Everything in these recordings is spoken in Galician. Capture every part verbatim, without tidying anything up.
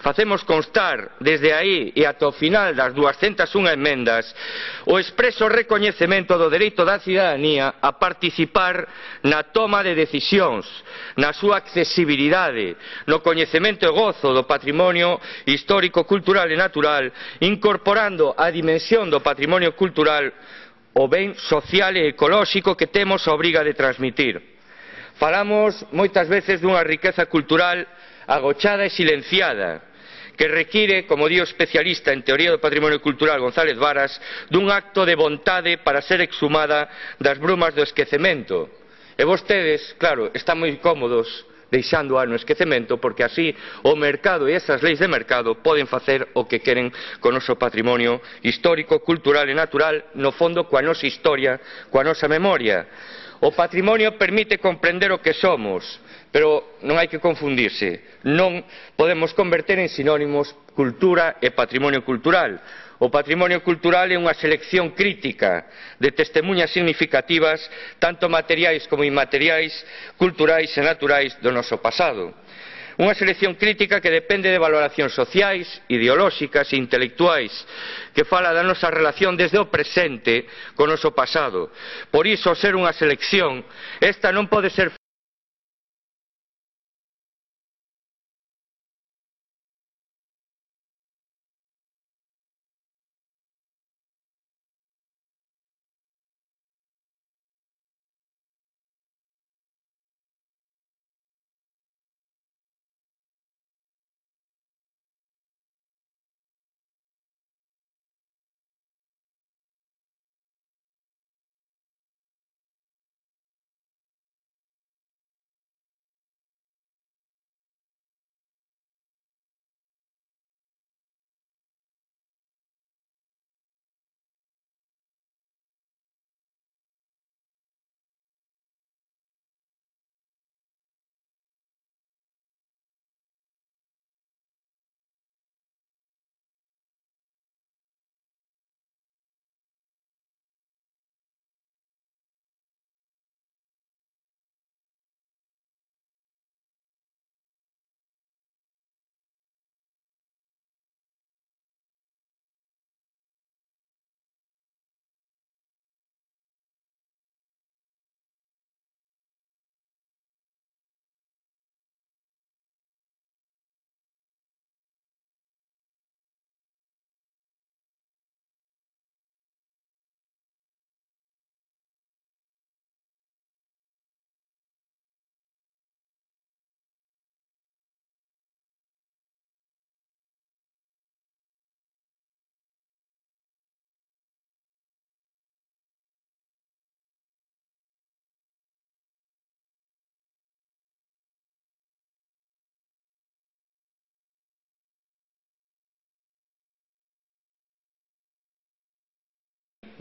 facemos constar desde aí e ata o final das duascentas e unha emendas o expreso recoñecemento do dereito da cidadanía a participar na toma de decisións, na súa accesibilidade, no coñecemento e gozo do patrimonio histórico, cultural e natural, incorporando a dimensión do patrimonio cultural o ben social e ecolóxico que temos a obriga de transmitir. Falamos moitas veces dunha riqueza cultural agochada e silenciada, que require, como di o especialista en teoría do patrimonio cultural González Varas, dun acto de vontade para ser exhumada das brumas do esquecemento. E vostedes, claro, están moi cómodos deixando-a no esquecemento, porque así o mercado e esas leis de mercado poden facer o que queren co noso patrimonio histórico, cultural e natural, no fondo coa nosa historia, coa nosa memoria. O patrimonio permite comprender o que somos, pero non hai que confundirse, non podemos converter en sinónimos cultura e patrimonio cultural. O patrimonio cultural é unha selección crítica de testemuñas significativas, tanto materiais como inmateriais, culturais e naturais do noso pasado. Unha selección crítica que depende de valoracións sociais, ideolóxicas e intelectuais, que fala da nosa relación desde o presente co noso pasado. Por iso, ser unha selección, esta non pode ser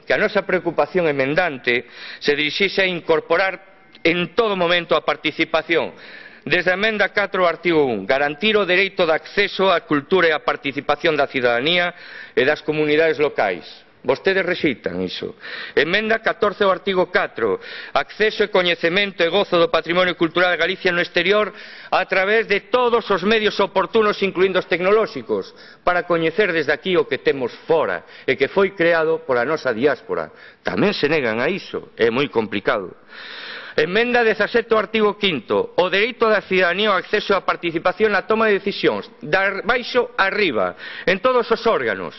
que a nosa preocupación emendante se dirixixe a incorporar en todo momento a participación. Desde a emenda catro ao artigo un, garantir o dereito de acceso á cultura e á participación da cidadanía e das comunidades locais. Vostedes rexeitan iso. Emenda catorce ao artigo catro, acceso e coñecemento e gozo do patrimonio cultural de Galicia no exterior a través de todos os medios oportunos, incluindo os tecnolóxicos, para coñecer desde aquí o que temos fora e que foi creado pola nosa diáspora. Tamén se negan a iso, é moi complicado. Emenda dezasete ao artigo quinto, o dereito da cidadanía ao acceso á participación na toma de decisións, de baixo a arriba, en todos os órganos.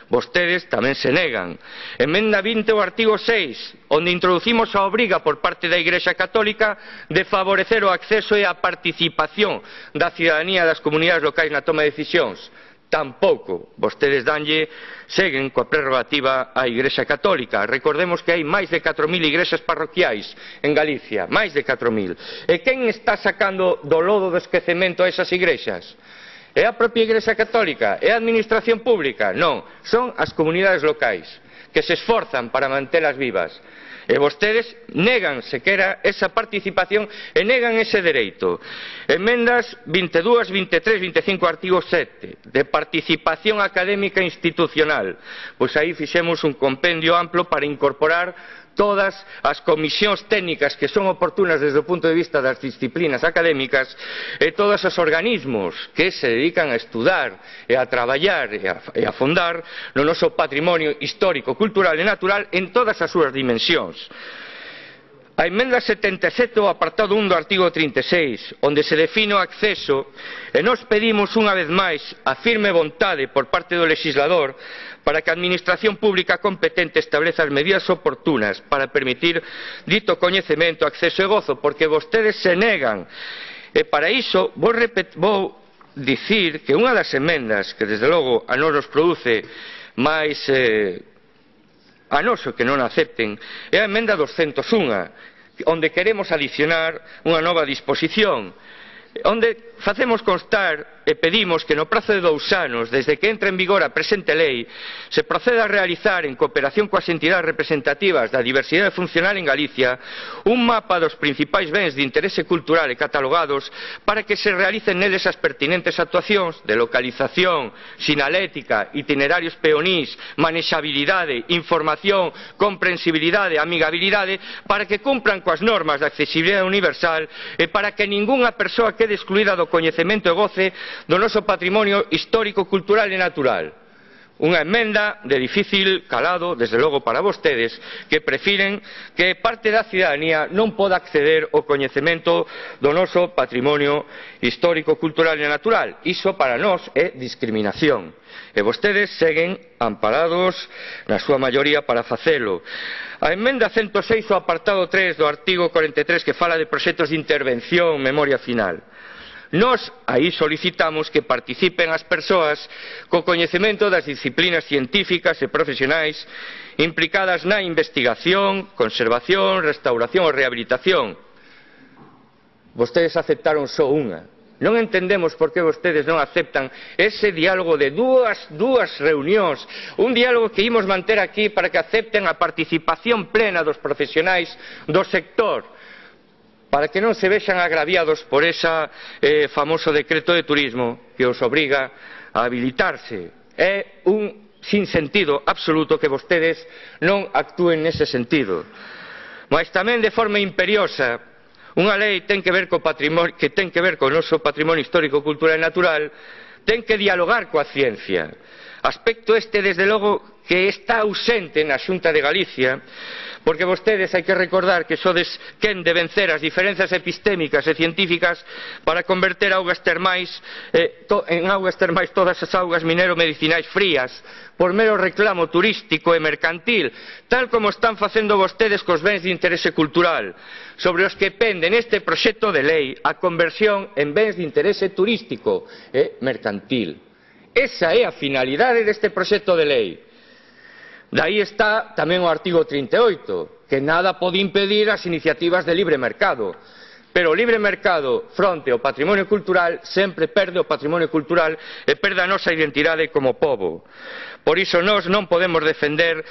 Vostedes tamén se negan. Emenda vinte ao artigo seis, onde introducimos a obriga por parte da Igrexa Católica de favorecer o acceso e a participación da cidadanía das comunidades locais na toma de decisións. Tampouco. Vostedes danlle, seguen coa prerrogativa á Igrexa Católica. Recordemos que hai máis de catro mil igrexas parroquiais en Galicia, máis de catro mil. E quen está sacando do lodo do esquecemento a esas igrexas? É a propia Igrexa Católica? É a administración pública? Non, son as comunidades locais, que se esforzan para mantelas vivas. E vostedes negan sequera esa participación e negan ese dereito. Emendas vinte e dúas, vinte e tres, vinte e cinco, artigo sete, de participación académica institucional. Pois aí fixemos un compendio amplo para incorporar todas as comisións técnicas que son oportunas desde o punto de vista das disciplinas académicas e todos os organismos que se dedican a estudar e a traballar e a, e a fondar no noso patrimonio histórico, cultural e natural en todas as súas dimensións. A emenda setenta e sete, o apartado un do artigo trinta e seis, onde se define o acceso, e nós pedimos unha vez máis a firme vontade por parte do legislador para que a Administración Pública competente estableza as medidas oportunas para permitir dito coñecemento, acceso e gozo, porque vostedes se negan. E para iso vou, repet... vou dicir que unha das emendas que desde logo a nos nos produce máis eh, a noso que non acepten é a emenda doscientos un, onde queremos adicionar unha nova disposición onde facemos constar e pedimos que no prazo de dous anos desde que entre en vigor a presente lei se proceda a realizar en cooperación coas entidades representativas da diversidade funcional en Galicia un mapa dos principais bens de interese cultural e catalogados para que se realicen neles as pertinentes actuacións de localización, sinalética, itinerarios peonís, manexabilidade, información, comprensibilidade, amigabilidade para que cumpran coas normas de accesibilidade universal e para que ningunha persoa quede excluída do coñecemento e goce do noso patrimonio histórico, cultural e natural. Unha emenda de difícil calado, desde logo para vostedes, que prefiren que parte da cidadanía non poda acceder ao coñecemento do noso patrimonio histórico, cultural e natural. Iso para nós é discriminación. E vostedes seguen amparados na súa maioría para facelo. A emenda ciento seis, o apartado tres do artigo cuarenta e tres, que fala de proxectos de intervención, memoria final. Nós aí solicitamos que participen as persoas co coñecemento das disciplinas científicas e profesionais implicadas na investigación, conservación, restauración ou rehabilitación. Vostedes aceptaron só unha. Non entendemos por que vostedes non aceptan ese diálogo de dúas, dúas reunións, un diálogo que imos manter aquí para que acepten a participación plena dos profesionais do sector, para que non se vexan agraviados por ese eh, famoso decreto de turismo que os obriga a habilitarse. É un sinsentido absoluto que vostedes non actúen nese sentido. Mas tamén de forma imperiosa, unha lei ten que ver co patrimonio, que ten que ver co noso patrimonio histórico, cultural e natural, ten que dialogar coa ciencia. Aspecto este, desde logo, que está ausente na Xunta de Galicia, porque vostedes hai que recordar que sodes quen de vencer as diferenzas epistémicas e científicas para converter augas termais eh, to, en augas termais todas as augas minero-medicinais frías por mero reclamo turístico e mercantil, tal como están facendo vostedes cos bens de interese cultural, sobre os que pende neste proxecto de lei a conversión en bens de interese turístico e mercantil. Esa é a finalidade deste proxecto de lei. Daí está tamén o artigo trinta e oito, que nada pode impedir as iniciativas de libre mercado. Pero o libre mercado fronte ao patrimonio cultural sempre perde o patrimonio cultural e perde a nosa identidade como pobo. Por iso nós non podemos defender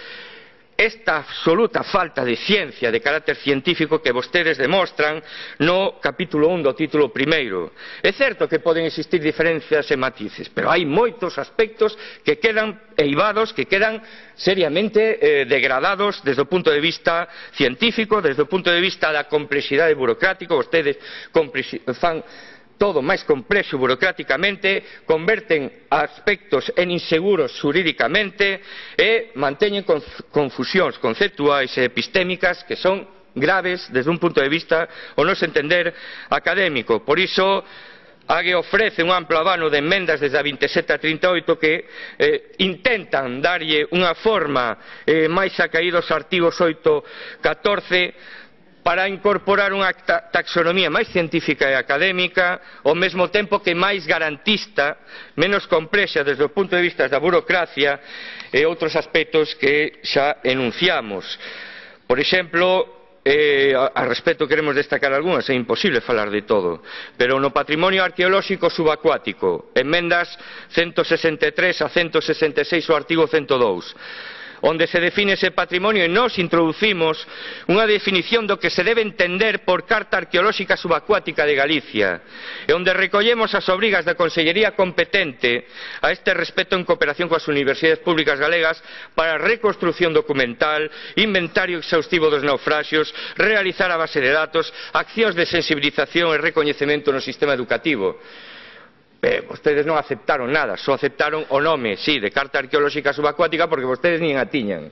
esta absoluta falta de ciencia, de carácter científico que vostedes demostran no capítulo un do título primeiro. É certo que poden existir diferencias e matices, pero hai moitos aspectos que quedan eivados, que quedan seriamente eh, degradados desde o punto de vista científico, desde o punto de vista da complexidade burocrática. Vostedes fan todo máis complexo burocráticamente, converten aspectos en inseguros xurídicamente e manteñen confusións conceptuais e epistémicas que son graves desde un punto de vista o noso entender académico. Por iso A G E ofrece un amplo abano de emendas desde a vinte e sete a trinta e oito que eh, intentan darlle unha forma eh, máis acaídos artigos oito e catorce para incorporar unha taxonomía máis científica e académica, ao mesmo tempo que máis garantista, menos complexa desde o punto de vista da burocracia e outros aspectos que xa enunciamos. Por exemplo, eh, a respecto queremos destacar algunhas, é imposible falar de todo, pero no patrimonio arqueolóxico subacuático, emendas ciento sesenta e tres a ciento sesenta e seis o artigo ciento dous. onde se define ese patrimonio e nós introducimos unha definición do que se debe entender por Carta Arqueolóxica Subacuática de Galicia e onde recollemos as obrigas da Consellería competente a este respecto en cooperación coas universidades públicas galegas para a reconstrucción documental, inventario exhaustivo dos naufraxios, realizar a base de datos, accións de sensibilización e recoñecemento no sistema educativo. Eh, vostedes non aceptaron nada, só aceptaron o nome, sí, de Carta Arqueolóxica Subacuática porque vostedes nin a tiñan.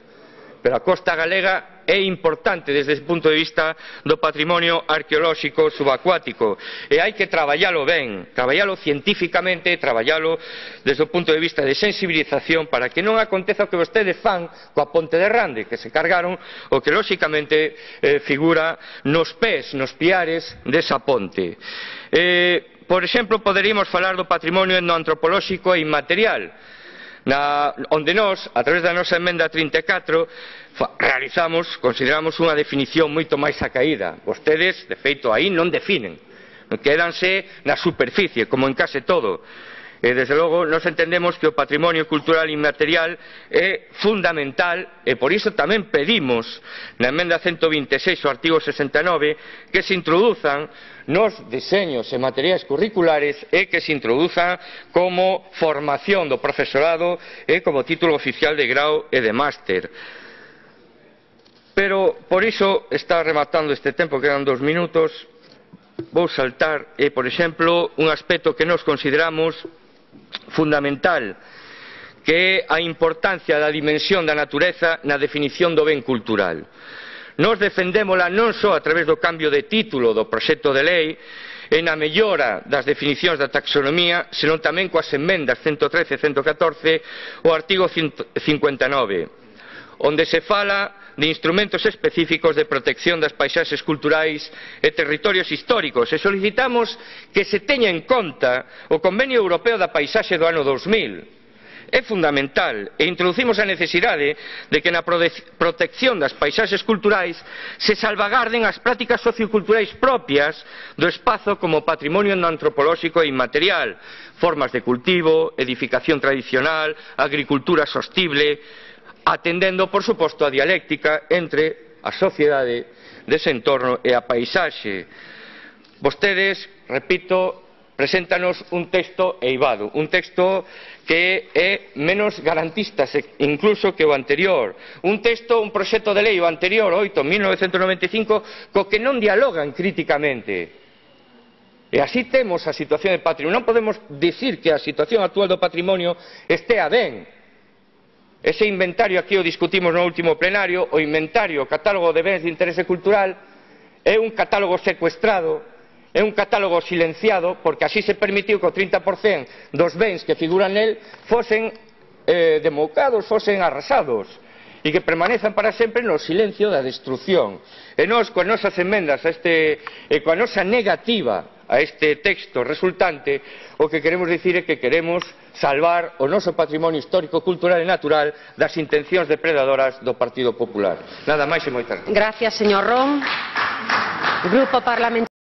Pero a costa galega é importante desde ese punto de vista do patrimonio arqueolóxico subacuático e hai que traballalo ben, traballalo científicamente, traballalo desde o punto de vista de sensibilización para que non aconteza o que vostedes fan coa Ponte de Rande, que se cargaron o que lóxicamente eh, figura nos pés, nos piares desa ponte. Eh, Por exemplo, poderíamos falar do patrimonio etnoantropolóxico e inmaterial, na, onde nós, a través da nosa emenda trinta e catro, realizamos, consideramos unha definición moito máis acaída. Vostedes, de feito, aí non definen, quédanse na superficie, como en case todo. E, desde logo, nós entendemos que o patrimonio cultural inmaterial é fundamental e por iso tamén pedimos na emenda ciento vinte e seis, o artigo sesenta e nove, que se introduzan nos deseños e materiais curriculares e que se introduzan como formación do profesorado e como título oficial de grau e de máster. Pero, por iso, está rematando este tempo, quedan dos minutos, vou saltar, e, por exemplo, un aspecto que nós consideramos fundamental, que é a importancia da dimensión da natureza na definición do ben cultural. Nós defendémola non só a través do cambio de título do proxecto de lei e na mellora das definicións da taxonomía, senón tamén coas emendas ciento trece e ciento catorce o artigo cincuenta e nove, onde se fala de instrumentos específicos de protección das paisaxes culturais e territorios históricos e solicitamos que se teña en conta o Convenio Europeo da Paisaxe do ano dos mil. É fundamental e introducimos a necesidade de que na protección das paisaxes culturais se salvagarden as prácticas socioculturais propias do espazo como patrimonio etnoantropolóxico e inmaterial, formas de cultivo, edificación tradicional, agricultura sostible, atendendo, por suposto, a dialéctica entre a sociedade dese entorno e a paisaxe. Vostedes, repito, preséntanos un texto eivado, un texto que é menos garantista incluso que o anterior, un texto, un proxecto de lei o anterior, oito, mil novecentos noventa e cinco, co que non dialogan críticamente. E así temos a situación de patrimonio. Non podemos dicir que a situación actual do patrimonio estea ben. Ese inventario aquí o discutimos no último plenario, o inventario, o catálogo de bens de interese cultural, é un catálogo secuestrado, é un catálogo silenciado, porque así se permitiu que o trinta por cento dos bens que figuran nel fosen eh, demoucados, fosen arrasados, e que permanezan para sempre no silencio da destrucción. E nós, coas nosas emendas, a este, e coa nosa negativa a este texto resultante, o que queremos dicir é que queremos salvar o noso patrimonio histórico, cultural e natural das intencións depredadoras do Partido Popular. Nada máis e moitas gracias. Gracias, señor Ron. Grupo Parlamentario